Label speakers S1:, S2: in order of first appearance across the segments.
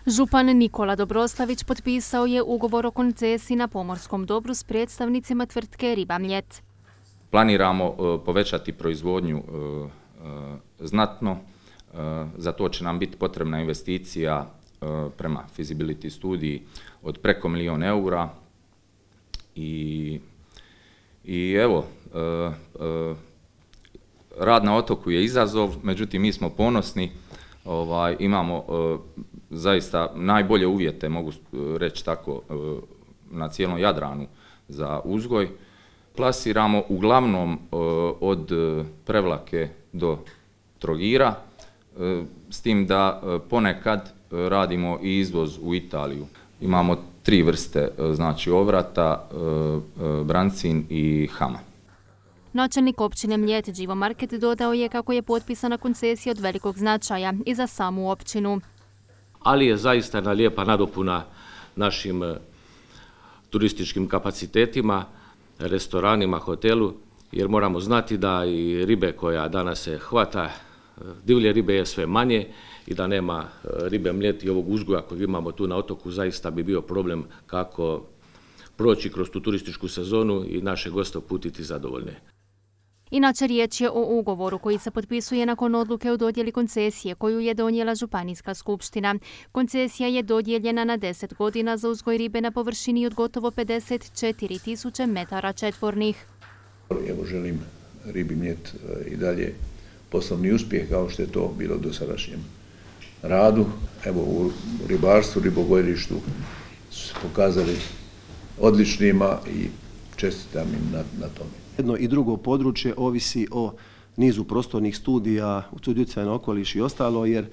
S1: Župan Nikola Dobroslavić potpisao je ugovor o koncesiji na pomorskom dobru s predstavnicima tvrtke Riba Mljet.
S2: Planiramo povećati proizvodnju znatno, za to će nam biti potrebna investicija prema feasibility studiji od preko €1.000.000 i evo, rad na otoku je izazov, međutim mi smo ponosni, imamo zaista najbolje uvjete, mogu reći tako, na cijelom Jadranu za uzgoj. Plasiramo uglavnom od Prevlake do Trogira, s tim da ponekad radimo i izvoz u Italiju. Imamo 3 vrste, znači ovrata, brancin i hama.
S1: Načelnik općine Mljet Đivo Market dodao je kako je potpisana koncesija od velikog značaja i za samu općinu.
S3: Ali je zaista jedna lijepa nadopuna našim turističkim kapacitetima, restoranima, hotelu, jer moramo znati da i ribe koja danas se hvata, divlje ribe je sve manje i da nema ribe Mljet i ovog uzgoja kojeg imamo tu na otoku, zaista bi bio problem kako proći kroz tu turističku sezonu i naše goste uputiti zadovoljne.
S1: Inače, riječ je o ugovoru koji se potpisuje nakon odluke o dodjeli koncesije koju je donijela Županijska skupština. Koncesija je dodijeljena na 10 godina za uzgoj ribe na površini od gotovo 54.000 metara četvornih.
S4: Evo, želim Ribi Mljet i dalje poslovni uspjeh kao što je to bilo u dosadašnjem radu. Evo, u ribarstvu, ribogojilištu su se pokazali odličnima i čestitam im na tome.
S5: Jedno i drugo područje ovisi o nizu prostornih studija, utjecaja na okoliš i ostalo, jer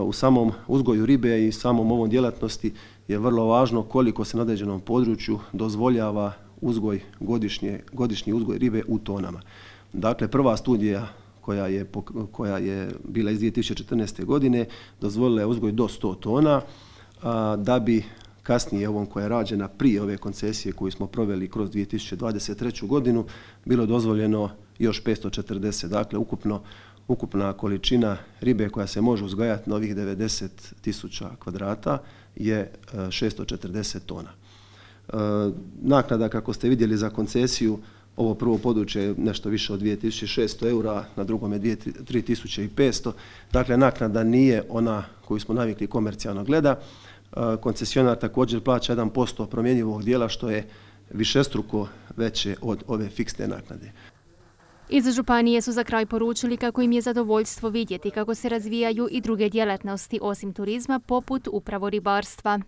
S5: u samom uzgoju ribe i samom ovom djelatnosti je vrlo važno koliko se na određenom području dozvoljava uzgoj, godišnji uzgoj ribe u tonama. Dakle, prva studija koja je bila iz 2014. godine dozvolila je uzgoj do 100 tona, da bi kasnije ovom koja je rađena prije ove koncesije koju smo proveli kroz 2023. godinu bilo dozvoljeno još 540. Dakle, ukupna količina ribe koja se može uzgajati na ovih 90.000 kvadrata je 640 tona. Naknada, kako ste vidjeli, za koncesiju, ovo prvo područje je nešto više od 2.600 eura, na drugom je 3.500. Dakle, naknada nije ona koju smo navikli komercijalno gleda. Koncesionar također plaća 1% promjenjivog dijela, što je višestruko veće od ove fiksne naknade.
S1: Iz županije su za kraj poručili kako im je zadovoljstvo vidjeti kako se razvijaju i druge djelatnosti osim turizma, poput upravo ribarstva.